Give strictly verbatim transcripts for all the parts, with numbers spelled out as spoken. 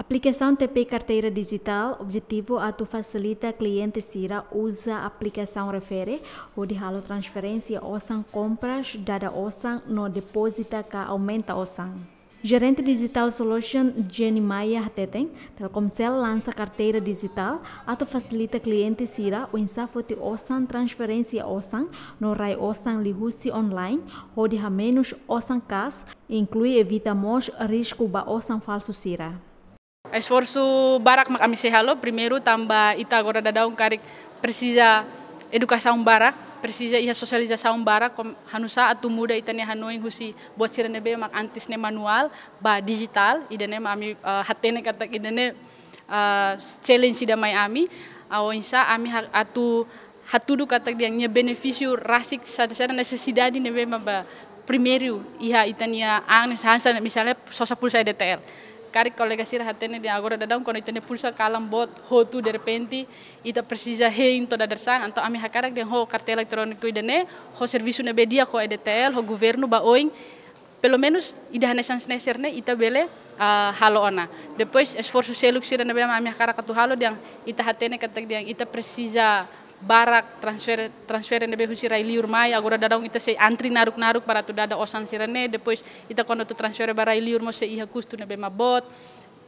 Aplikasaun T P I Karteira Dijitál objetivu atu fasilita kliente sira uza aplikasaun refere hodi halo transferénsia osan kompras, dada osan no depozita ka aumenta osan. Gerente Digital Solution Jenny Maia hateten, Telkomcel lansa karteira dijitál atu fasilita kliente sira oinsá foti osan, transferénsia osan no rai osan liuhusi online, hodi hamenus osan kas, inklui evita mós risku ba osan falsu sira. Esforsu barak mak ami sei halo, primeiru tanba ita agora daudaun karik presiza edukasaun barak, presiza iha sosializasaun barak, kom-, hanusá atu muda ita-nia hanoin husi buat sira ne'ebé mak antes ne'e manuál ba dijitál, ida-ne'e mak ami, eh, hatene katak ida-ne'e, eh, challenge ida mai ami, ah, oinsá ami ha-, atu hatudu katak dehan nia benefísiu rasik saida, saida nesesidade ne'ebé mak ba primeiru iha ita-nia an, hanesan misalnya sosa pulsa E D T L. Karik kolega sira hatene dehan agora daudaun kuandu ita-nia pulsa kalan boot hotu derrepente, ita presiza hein to'o dadeer-saan, entaun ami hakarak dehan ho karteira eletróniku ida-ne'e, ho servisu ne'ebé di'ak ho E D T L, ho governu ba oin, pelumenus ida hanesan ne'e sira-ne'e ita bele, ah, halo ona. Depois esforsu seluk sira ne'ebé mak ami hakarak atu halo dehan ita hatene katak dehan ita presiza barak transfer, transfer ne'ebé husi rai-liur mai, agora daudaun ita sei antri naruk-naruk para atu dada osan sira-ne'e, depois ita kuandu atu transfer ba rai-liur mós sei iha kustu ne'ebé mak boot,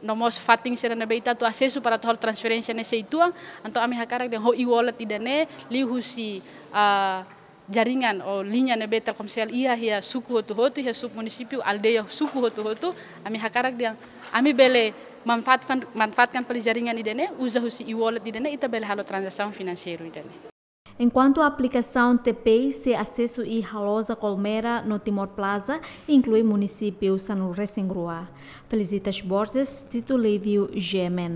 no mós fatin sira ne'ebé ita atu asesu para atu halo transferénsia ne'e sei tuan, entaun ami hakarak dehan ho e-wallet ida-ne'e, liuhusi, ah, jaringan ou liña ne'ebé Telkomcel iha iha suku hotu-hotu, iha sub-munisípiu, aldeia, suku hotu-hotu, ami hakarak dehan ami bele manfaatkan, manfaatkan fali jaringan ida-ne'e, uza husi e-wallet ida-ne'e, ita bele halo tranzasaun finanseiru ida-ne'e. Enkuantu aplikasaun T P I sei asesu iha Loja Colmera no Timor Plaza, inklui munisípiu sanulu-resin-rua. Felicitas Borges, Tito Livio, G M N.